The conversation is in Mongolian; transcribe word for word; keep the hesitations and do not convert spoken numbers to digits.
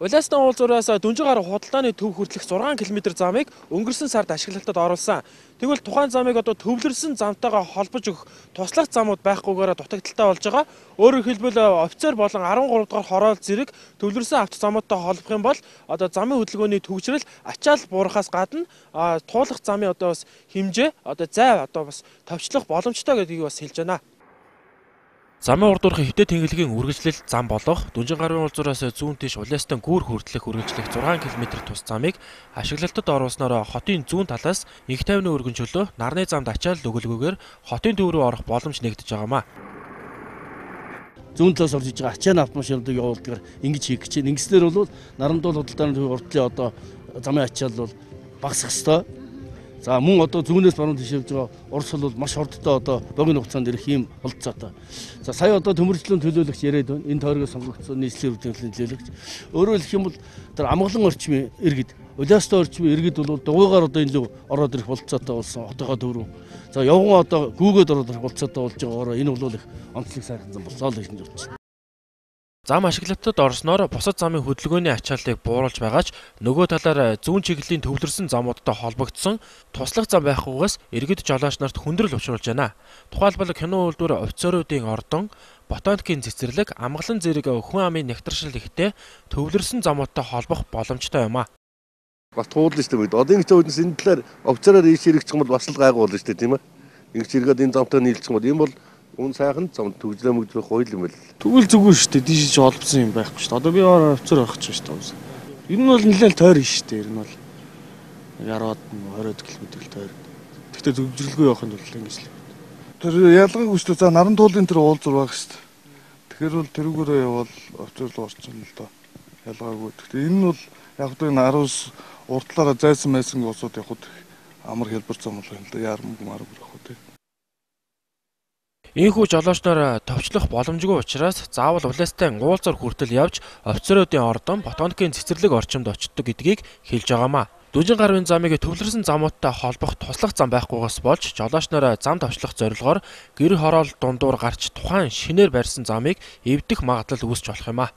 Улаастан уулзуураас Дүнжин гаруй худалдааны төв хүртэлх зургаан километр замыг өнгөрсөн сард ашиглалтад оруулсан. Тэгвэл тухайн замыг одоо төвлөрсөн замтайгаа холбож өгөх туслах замууд байхгүйгээр дутагдaltaй болж байгаа. Өөрөөр хэлбэл офицер болон арван гурав дахь хороол зэрэг төвлөрсөн автозамуудтай холбох юм бол одоо замын хөдөлгөөний төвчрэл ачаал буурахаас гадна туулах замын одоо бас хэмжээ одоо зай одоо бас товчлох боломжтой гэдгийг бас хэлж байна. Замын урдуурхын хөвтэй тэнглэгийн үргэлжлэл зам болох Дүнжин гаруйн уулзуураас зүүн тийш Улаастан гүүр хүртэлх үргэлжлэх зургаан километр тус замыг ашиглалтад оруулснаар хотын зүүн талаас их тайвны өргөн чөлөө нарны замд ачаал өгөлгүйгээр хотын төв рүү орох боломж нэгдэж байгаамаа. Зүүн талаас орж иж байгаа ачааны автомашинуудыг явуулдгаар ингэж хийх гэж байна. Ингэснээр бол Нарандуул худалдааны төв урдлын одоо замын ачаал бол багасах ёстой. За мөн одоо зүүнээс баруун тийш явж байгаа Орос бол маш хурдтай одоо богино хугацаанд ирэх юм болцоотой. За сая одоо төмөржлөн төлөөлөгч яриад байна. Энэ тойрогоос сонгогдсон нийслэлийн үүднийхлийн төлөөлөгч. Өөрөөр хэлэх юм бол тэр амгалан орчмын иргэд, Улаастан орчмын иргэд бол дугуйгаар одоо энэ лөө ороод ирэх болцоотой болсон хотойгоо дөрөв. За явган одоо гүүгээд ороод ирэх болцоотой болж байгаагаар энэ бол их онцлог сайхан болсоо л гэж бодож байна. Зам ашиглалтад орсноор бусад замын хөдөлгөөний ачааллыг бууруулж байгаач нөгөө талаар зүүн чиглэлийн төвлөрсөн замуудтай холбогдсон туслах зам байхгүйгээс иргэд жолооч нарт хүндрэл учруулж байна. Тухайлбал кино үйлдвэр офицеруудын ордон, ботаникийн цэцэрлэг, амгалан зэрэг хүн амын нягтршил ихтэй төвлөрсөн замуудтай холбох боломжтой юм а. Бас туулна шүү дээ. Одоо ингэж үүднээс энэ талаар офицераар ийш хэрэгчих юм бол бас л гайгүй болно шүү дээ, тийм ээ. Ингэж хэрэгэд энэ замтай нийлчих юм бол энэ бол үн сайхан зам төгжлөө мөгжлөх хууль юм байл. Тэгвэл зүгээр шүү дээ. Дийшж олбсон юм байхгүй шүү дээ. Одоо би офицер байх гэж байна шүү дээ. Ер нь бол нэлээд тойр шүү дээ. Ер нь бол яраад хорвоо километр тойр. Гэхдээ төгжрөлгүй явахын тулд ингэж л. Тэр ялгааг хүчлээ. За Нарантуулын тэр уулзуур байх шүү дээ. Тэгэхээр бол тэрүүгээрээ явал офицер руу орсон л доо. Ялгаагүй. Гэхдээ энэ нь бол яг одоо энэ араас уртлаараа зайсан майсан усууд явахд амар хэлбэр зам бол юм л да. Ярмаг марг явах үү. Ийхүү жолоочноор товчлох боломжгүй учраас заавал Улаастан уулзуур хүртэл явж офицеруудын ордон, ботаникийн цэцэрлэг орчимд очдог гэдгийг хэлж байгаамаа. Дүнжин гаруйн замыг төвлөрсөн замуудтай холбох туслах зам байхгүйгээс болж жолоочноор зам товчлох зорилгоор гэр хороол дундуур гарч тухайн шинээр барьсан замыг эвдэх магадлал үүсч болох юм а.